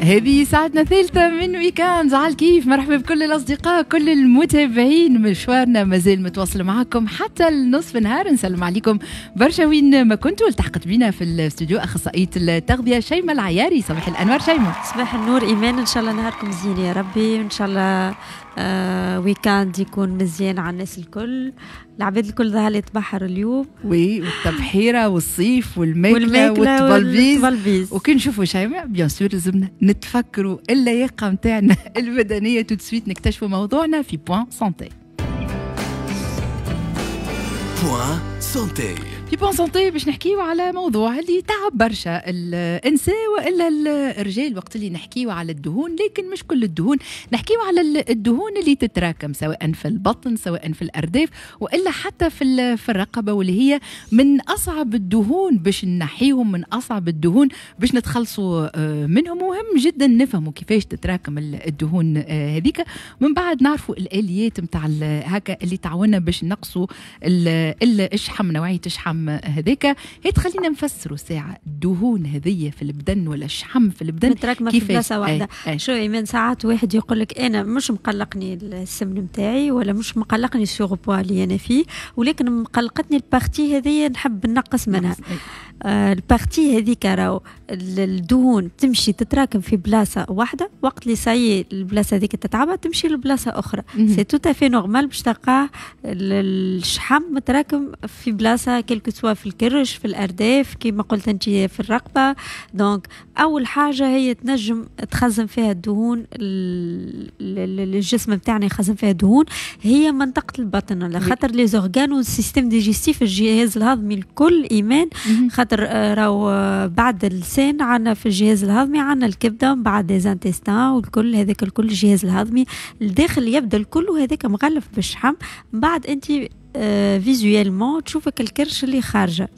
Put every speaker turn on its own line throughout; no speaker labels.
هذه ساعتنا الثالثة من week-end على الكيف. مرحبا بكل الأصدقاء، كل المتابعين. مشوارنا مازال متواصل معكم حتى النصف نهار. نسلم عليكم برشا وين ما كنتوا. التحقت بنا في الاستوديو أخصائية التغذية شيماء العياري. صباح الأنوار شيماء.
صباح النور إيمان، إن شاء الله نهاركم زين يا ربي، إن شاء الله week-end يكون مزيان على الناس الكل. العباد الكل ظهر لي تبحر اليوم،
oui، والتبحيره والصيف والماكله والتبلبيز. وكي نشوفوا شيماء bien sûr لازمنا نتفكروا اللياقة نتاعنا البدنية. tout de suite نكتشفوا موضوعنا في point santé.
point santé.
في point santé باش نحكيو على موضوع اللي تعب برشا الانسان والا الرجال وقت اللي نحكيو على الدهون، لكن مش كل الدهون. نحكيو على الدهون اللي تتراكم سواء في البطن سواء في الارداف والا حتى في الرقبة، واللي هي من اصعب الدهون باش نحيهم، من اصعب الدهون باش نتخلصوا منهم. مهم جدا نفهموا كيفاش تتراكم الدهون هذيك، من بعد نعرفوا الاليات نتاع هكا اللي تعاوننا باش نقصوا الشحم، نوعية الشحم هذاك. هي تخلينا نفسروا ساعة الدهون هذية في البدن ولا الشحم في البدن
متراكمة في بلاصة واحدة. شو إيمان، ساعات واحد يقول لك أنا مش مقلقني السمن نتاعي ولا مش مقلقني ال surpoids اللي أنا فيه، ولكن مقلقتني ال partie هذية نحب نقص منها. ال partie هذيك راهو الدهون تمشي تتراكم في بلاصة واحدة، وقت اللي ça y est البلاصة هذيك تتعبى تمشي لبلاصه اخرى. c'est tout à fait normal باش تلقاه الشحم متراكم في بلاصة quelque soit في الكرش، في الارداف، كيما قلت انت في الرقبة. donc اول حاجة هي تنجم تخزن فيها الدهون، الجسم نتاعنا يخزن فيها الدهون، هي منطقة البطن، على خاطر les organes وال système digestif، الجهاز الهضمي الكل ايمان. خاطر راهو بعد اللسان عندنا في الجهاز الهضمي عندنا الكبده، بعد les intestins والكل هذاك الكل الجهاز الهضمي الداخل يبدا الكل وهذاك مغلف بالشحم. بعد انت visuellement تشوفك الكرش اللي خارجه،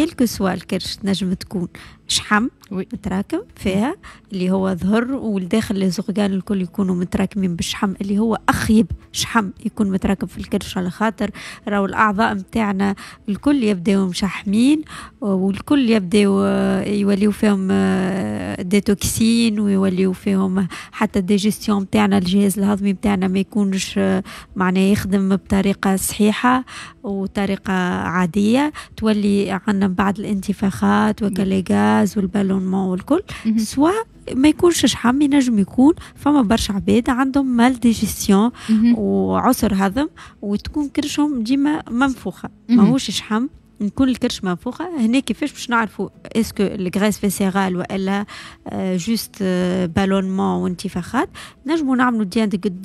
quel que soit الكرش تنجم تكون شحم متراكم فيها اللي هو ظهر، والداخل les organes الكل يكونوا متراكمين بالشحم اللي هو اخيب شحم يكون متراكم في الكرش، على خاطر راهو الاعضاء نتاعنا الكل يبداو مشحمين والكل يبداو يوليو فيهم des toxines ويوليو فيهم حتى ال digestion نتاعنا، الجهاز الهضمي نتاعنا ما يكونش معناه يخدم بطريقة صحيحه وطريقه عادية، تولي عندنا بعد الانتفاخات وك les gaz وال ballonnement والكل. soit ما يكونش شحم، ينجم يكون فما برشا عباد عندهم mal digestion وعسر هضم وتكون كرشهم ديما منفوخه، ماهوش شحم، نكون الكرش منفوخه. هنا كيفاش باش نعرفوا est-ce que ال graisse viscérale والا juste ballonnement وانتفاخات؟ نجموا نعملوا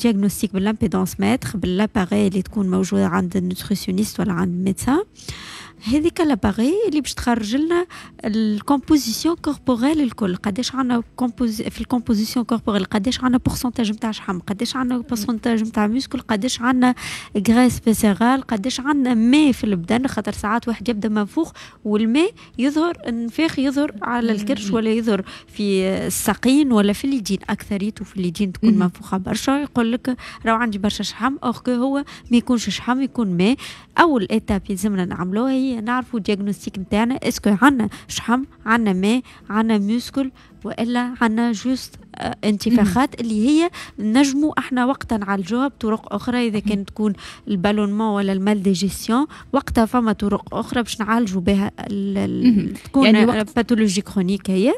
diagnostic بال impédancemètre، بال appareil اللي تكون موجودة عند ال nutritionniste ولا عند ال médecin. هذيك l'appareil اللي باش تخرج لنا ال composition corporelle الكل، قداش عندنا في ال composition corporelle، قداش عندنا pourcentage نتاع شحم، قداش عندنا pourcentage نتاع muscle، قداش عندنا graisse viscérale، قداش عندنا ماء في البدن. خاطر ساعات واحد يبدا منفوخ والماء يظهر، النفاخ يظهر على الكرش ولا يظهر في الساقين ولا في اليدين، اكثريته في اليدين تكون منفوخه برشا، يقول لك راهو عندي برشا شحم، or que هو ما يكونش شحم يكون ماء. اول étape يلزمنا نعملوها هي نعرفوا diagnostic نتاعنا، est-ce que عندنا شحم، عندنا ماء، عندنا muscle، والا عندنا juste انتفاخات اللي هي نجموا احنا وقتها نعالجوها بطرق اخرى. اذا كانت تكون ال ballonnement ولا ال mal digestion وقتها فما طرق اخرى باش نعالجوا بها تكون يعني pathologie chronique هي،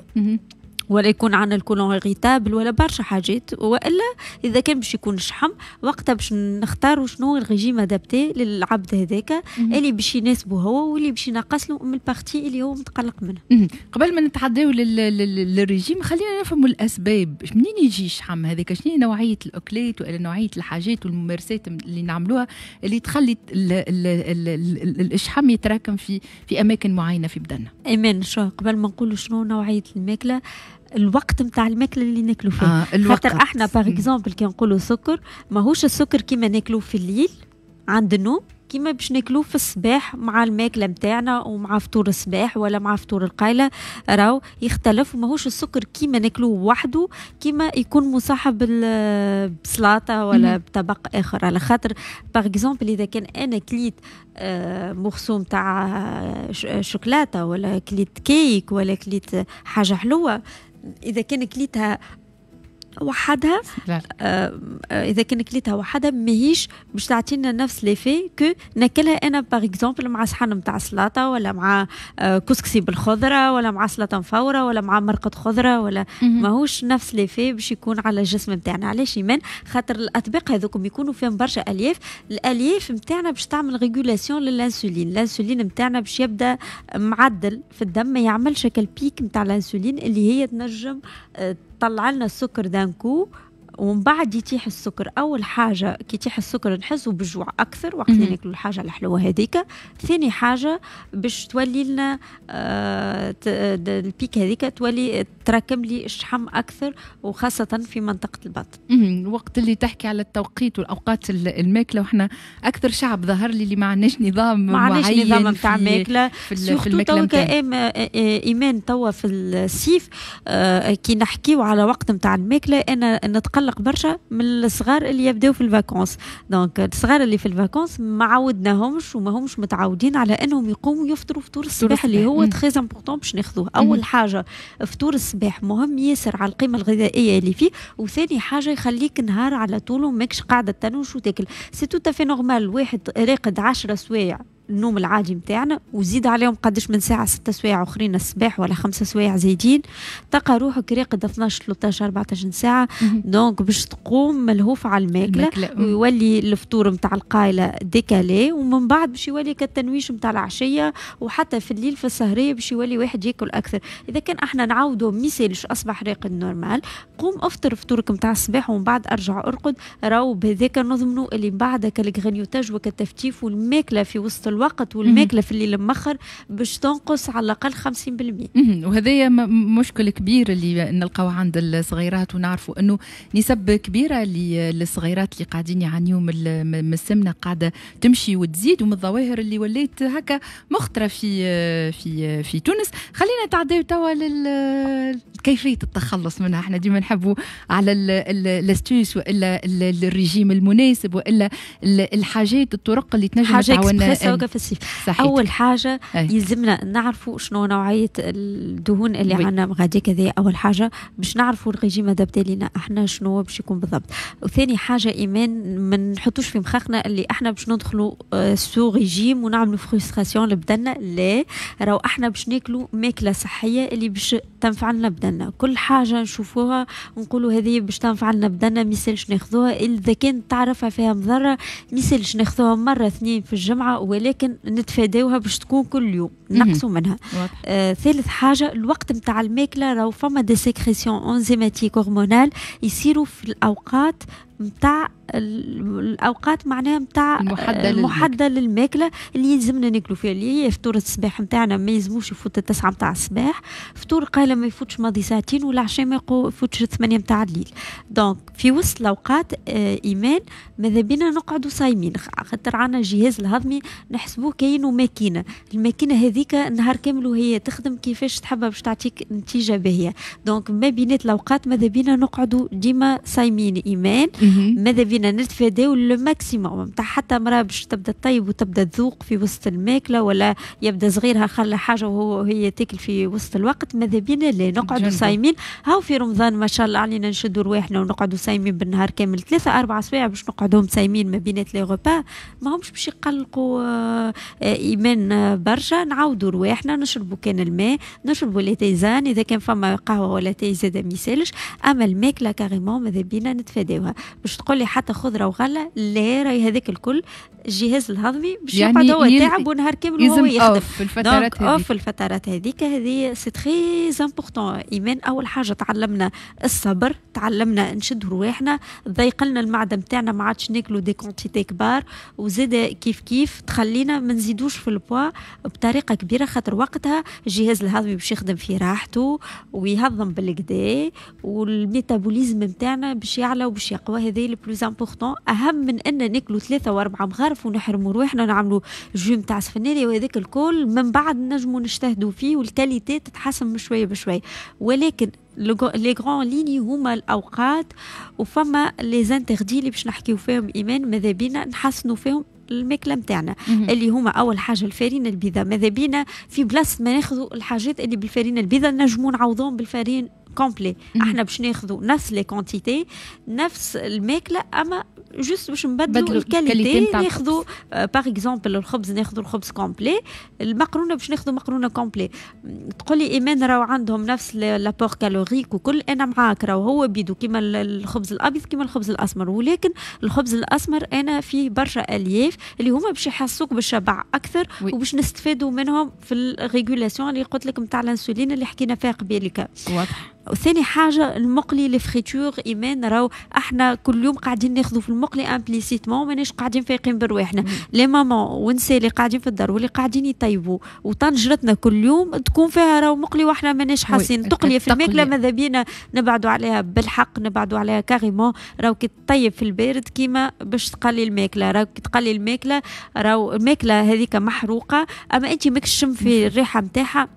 ولا يكون عندنا ال côlon irritable ولا برشا حاجات. والا اذا كان باش يكون شحم وقتها باش نختاروا شنو ال régime adapté للعبد هذاك اللي باش يناسبه هو واللي باش ينقص له من ال partie اللي هو متقلق منها.
قبل ما نتعداو للريجيم خلينا نفهموا الاسباب، منين يجي الشحم هذاك، شنو نوعية الاكلات والا نوعية الحاجات والممارسات اللي نعملوها اللي تخلي الشحم يتراكم في اماكن معينة في بدننا.
ايمان، شو قبل ما نقولوا شنو نوعية الماكلة، الوقت نتاع الماكلة اللي ناكلو فيه. خاطر احنا par exemple كي نقولوا سكر، ماهوش السكر كيما ناكلوه في الليل عند النوم كيما باش ناكلوه في الصباح مع الماكلة نتاعنا ومع فطور الصباح ولا مع فطور القايله، راهو يختلف. وماهوش السكر كيما ناكلوه وحده كيما يكون مصاحب بسلطه ولا بطبق اخر. على خاطر par exemple اذا كان انا كليت morceau نتاع شوكولاتة ولا كليت كيك ولا كليت حاجة حلوة، اذا كان كليتها وحدها اذا كان كليتها وحدها ماهيش باش تعطينا نفس l'effet que ناكلها انا par exemple مع صحن نتاع سلطة، ولا مع كسكسي بالخضره، ولا مع سلطة مفوره، ولا مع مرقه خضره، ولا ماهوش نفس l'effet باش يكون على الجسم نتاعنا. علاش ايمان؟ خاطر الاطباق هذوكم يكونوا فيهم برشا الياف، الالياف نتاعنا باش تعمل régulation للانسولين، الانسولين نتاعنا باش يبدا معدل في الدم، ما يعملش ال pic نتاع الانسولين اللي هي تنجم تطلع لنا السكر d'un coup ومن بعد يتيح السكر. اول حاجة كي يتيح السكر نحسوا بالجوع اكثر وقت اللي ناكلوا الحاجة الحلوة هذيك. ثاني حاجة باش تولي لنا ال pic هذيك تولي تراكم لي الشحم اكثر، وخاصة في منطقة البطن.
وقت اللي تحكي على التوقيت والاوقات الماكله، وحنا اكثر شعب ظهر لي اللي ما عندناش نظام.
ما عندناش نظام نتاع ماكله في الماكلة. ايمان توا في الصيف كي نحكيو على وقت نتاع الماكله، انا نتقلق برشا من الصغار اللي يبداو في ال vacances. donc الصغار اللي في ال vacances ما عودناهمش وما همش متعودين على انهم يقوموا يفطروا فطور الصباح اللي هو très important باش ناخذوه. اول حاجة فطور الصباح مهم ياسر على القيمة الغذائية اللي فيه، وثاني حاجة يخليك نهار على طول ماكش قاعدة تنوش وتاكل. c'est tout à fait normal واحد راقد 10 سوايع النوم العادي متاعنا، وزيد عليهم قداش من ساعة، 6 سوايع أخرين الصباح ولا 5 سوايع زايدين، تلقى روحك راقد 12، 13، 14 ساعة. donc باش تقوم ملهوف على الماكلة، ويولي الفطور متاع القايلة décalé، ومن بعد باش يولي كالتنويش متاع العشية، وحتى في الليل في السهرية باش يولي واحد ياكل أكثر. إذا كان احنا نعاودوا ميسالش، أصبح راقد normal، قوم افطر فطورك متاع الصباح ومن بعد ارجع ارقد. راهو بهذاك نضمنوا اللي بعد ال grignotage وكالتفتيف والماكلة في وسط الوقت والماكله في الليل مخر باش تنقص على الاقل 50%.
وهذا مشكل كبير اللي نلقاو عند الصغيرات، ونعرفوا انه نسب كبيرة للصغيرات اللي قاعدين يعانيوا من السمنة قاعدة تمشي وتزيد، ومن الظواهر اللي ولات هكا مخطره في تونس. خلينا نتعداو توا كيفية التخلص منها. احنا ديما نحبوا على l'astuce والا الريجيم المناسب والا الحاجات، الطرق اللي تنجم
تعاوننا في الصيف. اول حاجة يلزمنا نعرفوا شنو نوعية الدهون اللي عندنا غادي كذا، اول حاجة باش نعرفوا ال régime adapté لينا احنا شنو باش يكون بالضبط. وثاني حاجة ايمان، ما نحطوش في مخاخنا اللي احنا باش ندخلوا sous régime ونعملوا frustration لبدنا. لا، راهو احنا باش ناكلوا ماكله صحية اللي باش تنفع لنا بدنا. كل حاجة نشوفوها نقولوا هذه باش تنفع لنا بدنا ميسالش ناخذوها، اذا كان تعرفها فيها مضرة ميسالش ناخذوها مرة اثنين في الجمعه، ولكن نتفاداوها باش تكون كل يوم، نقصوا منها. ثالث حاجة الوقت نتاع الماكله، راهو فما des sécrétions enzymatiques hormonales يصيروا في الاوقات نتاع الاوقات معناها نتاع المحددة للماكله اللي يلزمنا ناكلوا فيها، اللي هي فطور الصباح نتاعنا ما يلزموش يفوت 9 نتاع الصباح، فطور قايله ما يفوتش ماضي ساعتين، والعشاء ما يفوتش 8 نتاع الليل. donc في وسط الاوقات ايمان ماذا بينا نقعدوا صايمين، خاطر عندنا الجهاز الهضمي نحسبوه كاينه ماكينه، الماكينة هذيك النهار كامل وهي تخدم، كيفاش تحبها باش تعطيك نتيجة باهيه؟ donc ما بينات الاوقات ماذا بينا نقعدوا ديما صايمين ايمان. ماذا بينا نتفاداو le maximum نتاع حتى مراة باش تبدا تطيب وتبدا تذوق في وسط الماكله، ولا يبدا صغيرها خلى حاجة وهو هي تاكل في وسط الوقت. ماذا بينا لا، نقعدوا صايمين. هاو في رمضان ما شاء الله علينا نشدوا رواحنا ونقعدوا صايمين بالنهار كامل، 3 4 سوايع باش نقعدوا صايمين ما بينات les repas، ما همش باش يقلقوا ايمان برشا. نعاودوا رواحنا نشربوا كان الماء، نشربوا les tisanes، اذا كان فما قهوة ولا تاي زاد ما يسالش، اما الماكلة carrément ماذا بينا نتفاداوها. باش تقول لي حتى خضرة وغله؟ لا، راهي هذاك الكل الجهاز الهضمي باش يعني يقعد هو تعب ونهار كامل وهو يخدم.
في الفترات
هذيك، في الفترات هذيك هذه c'est très important ايمان. اول حاجة تعلمنا الصبر، تعلمنا نشد رواحنا، ضيق لنا المعدة نتاعنا، ما عادش ناكلوا des quantités كبار، وزاد كيف كيف تخلينا ما نزيدوش في البوا بطريقة كبيره، خاطر وقتها الجهاز الهضمي باش يخدم في راحته ويهضم بالقدا، وال métabolisme نتاعنا باش يعلى وباش يقوى. هذا le plus important، اهم من ان ناكلوا 3 و4 مغارف ونحرموا روحنا، نعملوا jus نتاع سفناري وهذاك الكل من بعد نجموا نجتهدوا فيه وال qualité تتحسن بشوية بشويه، ولكن les grandes lignes هما الاوقات وفما les interdits اللي باش نحكيو فيهم ايمان، ماذا بينا نحسنوا فيهم الماكلة نتاعنا، اللي هما اول حاجة الفارينه البيضاء. ماذا بينا في بلاصة ما ناخذوا الحاجات اللي بالفارينه البيضاء نجموا نعوضوهم بال farine complet. احنا باش ناخذوا نفس les quantités، نفس الماكله، اما juste باش نبدلوا ال qualité. ناخذوا par exemple الخبز، ناخذوا الخبز complet، المقرونه باش ناخذوا مقرونة complet. تقول لي ايمان راهو عندهم نفس l'apport calorique وكل، انا معاك، راهو هو بيدو كيما الخبز الابيض كيما الخبز الاسمر، ولكن الخبز الاسمر انا فيه برشا الياف اللي هما باش يحسوك بالشبع اكثر وباش نستفادوا منهم في ال régulation اللي قلت لك نتاع الانسولين اللي حكينا فيها قبيلك.
واضح.
وثاني حاجة المقلي، les fritures، ايمان راهو احنا كل يوم قاعدين ناخذوا في المقلي implicitement، ماناش قاعدين فايقين برواحنا. les mamans ونساء اللي قاعدين في الدار واللي قاعدين يطيبوا، وطنجرتنا كل يوم تكون فيها راهو مقلي واحنا ماناش حاسين. تقليه في الماكلة ماذا بينا نبعدوا عليها، بالحق نبعدوا عليها carrément. راهو كي تطيب في البارد كيما باش تقلي الماكله، راهو كي تقلي الماكلة راهو الماكلة هذيك محروقه، اما انت ماكش تشم في الريحة نتاعها،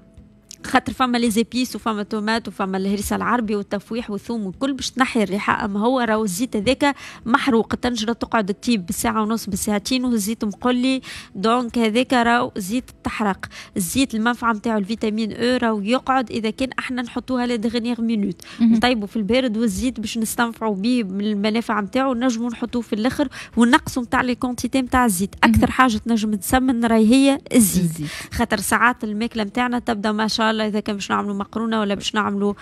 خاطر فما les épices وفما تومات وفما الهريسه العربي والتفويح والثوم والكل باش تنحي الريحه، اما هو راهو الزيت هذاك محروق. الطنجره تقعد تطيب بالساعة ونص بالساعتين والزيت مقلي، donc هذاك راهو زيت تحرق. الزيت المنفعة نتاعو ال vitamine E راهو يقعد اذا كان احنا نحطوها la dernière minute، نطيبوا في البارد، والزيت باش نستنفعوا به من المنافع نتاعو نجموا نحطوه في الاخر ونقصوا نتاع les quantités نتاع الزيت. اكثر حاجة تنجم تسمن راهي هي الزيت، خاطر ساعات الماكلة نتاعنا تبدا ما شاء الله، اذا كان باش نعملوا مقرونة ولا باش نعملوا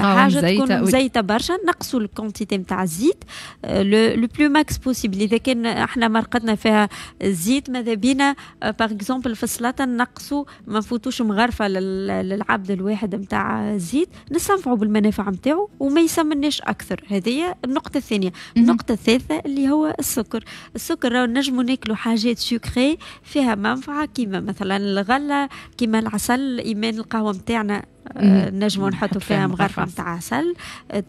حاجة تكون مزيته برشا، نقصوا ال quantité نتاع الزيت le plus max possible. اذا كان احنا مرقتنا فيها الزيت، ماذا بينا par exemple في السلطة نقصوا، ما نفوتوش مغرفه للعبد الواحد نتاع الزيت، نستنفعوا بالمنافع نتاعو وما يسمناش اكثر. هذه النقطة الثانيه. النقطة الثالثة اللي هو السكر. السكر راهو نجموا ناكلوا حاجات sucrées فيها منفعه، كيما مثلا الغلة، كيما العسل، ايمان القهوة نتاعنا نجموا نحطوا فيها مغرفه نتاع عسل،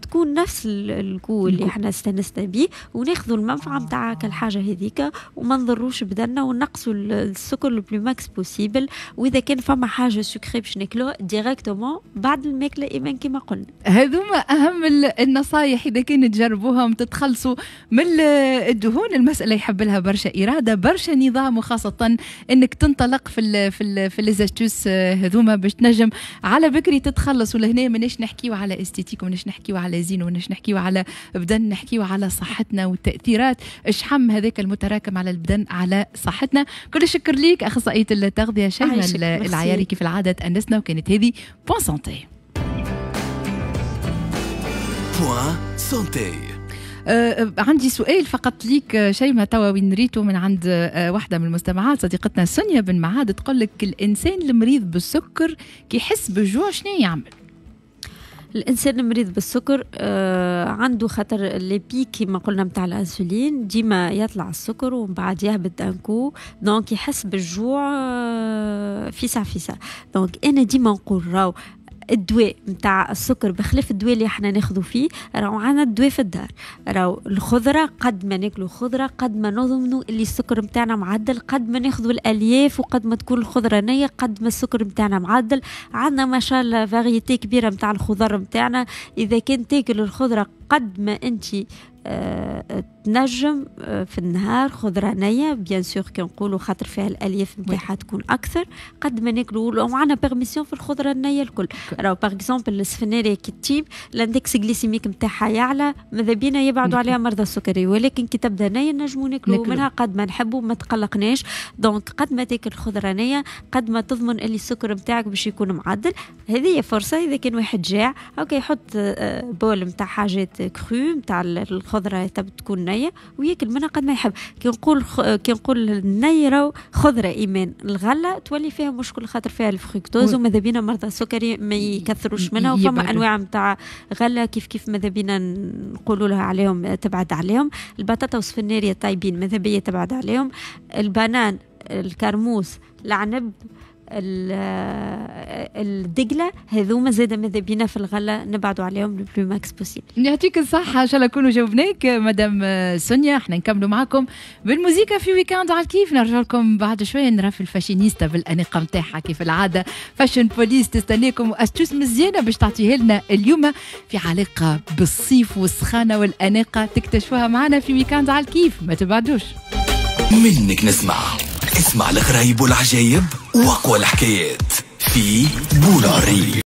تكون نفس ال goût اللي احنا استانسنا به، وناخذوا المنفعة نتاع الحاجة هذيك وما نضروش بدنا، ونقصوا السكر le plus max possible. واذا كان فما حاجة sucrée باش ناكلوها directement بعد الماكلة ايمان كما قلنا.
هذوما اهم النصايح اذا كان تجربوهم تتخلصوا من الدهون. المسالة يحب لها برشا اراده، برشا نظام، وخاصة انك تنطلق في les astuces هذوما باش تنجم على بكري تتخلص. ولهنا ماناش نحكيو على esthétique وماناش نحكيو على زين وماناش نحكيو على بدن، نحكيو على صحتنا والتاثيرات الشحم هذاك المتراكم على البدن على صحتنا. كل الشكر ليك اخصائية التغذية شيماء العياري، كيف العادة تأنسنا، وكانت هذه point santé.
point santé.
عندي سؤال فقط ليك شيماء، توا وين ريتو من عند واحدة من المستمعات صديقتنا سونيا بن معاد، تقول لك الإنسان المريض بالسكر كي يحس بالجوع شنو يعمل؟
الانسان المريض بالسكر عنده خاطر les pics كما قلنا نتاع الانسولين، ديما يطلع السكر ومن بعد يهبط d'un coup، donc يحس بالجوع فيسع فيسع. donc انا ديما نقول راهو الدواء نتاع السكر بخلاف الدواء اللي احنا ناخذو فيه، راهو عندنا الدواء في الدار. راهو الخضرة، قد ما ناكلو خضرة قد ما نضمنوا اللي السكر نتاعنا معدل، قد ما ناخذوا الالياف وقد ما تكون الخضرة نيه قد ما السكر نتاعنا معدل. عندنا ما شاء الله variété كبيرة نتاع الخضر نتاعنا، اذا كان تاكل الخضرة قد ما انت تنجم في النهار خضرة نيه bien sûr كي نقولوا خاطر فيها الالياف نتاعها تكون اكثر، قد ما ناكلوا وعندنا permission في الخضرة النية الكل. راهو par exemple السفناريه كي تطيب l'index glycémique نتاعها يعلى، ماذا بينا يبعدوا عليها مرضى السكري، ولكن كي تبدا نيه نجموا ناكلوا منها قد ما نحبوا ما تقلقناش. donc قد ما تاكل خضرة نيه قد ما تضمن اللي السكر نتاعك باش يكون معدل. هذه فرصة اذا كان واحد جاع okay يحط bol نتاع حاجات crues نتاع الخضرة تكون نيه وياكل منها قد ما يحب. كي نقول الني راهو خضرة ايمان، الغلة تولي فيها مشكل خاطر فيها الفركتوز، وماذا بينا مرضى السكري ما يكثروش منها. وفما انواع نتاع غله كيف كيف ماذا بينا نقولوا لها عليهم تبعد عليهم. البطاطا والسفناريه طيبين ماذا بيا تبعد عليهم. البنان، الكرموس، العنب، الدقله، هذوما زاد ماذا بينا في الغلة نبعدوا عليهم le plus max possible.
يعطيك الصحه، ان شاء الله نكونوا جاوبناك مدام سونيا. احنا نكملوا معكم بالموزيكا في week-end على الكيف، نرجع لكم بعد شوية نرى في الفاشينيستا بالاناقه نتاعها كيف العادة. fashion police تستناكم و astuces مزيانه باش تعطيها لنا اليوم في علاقة بالصيف والسخانه والاناقه، تكتشفوها معنا في week-end على الكيف، ما تبعدوش.
منك نسمع، اسمع الغرايب والعجايب واقوى الحكايات في بولاري.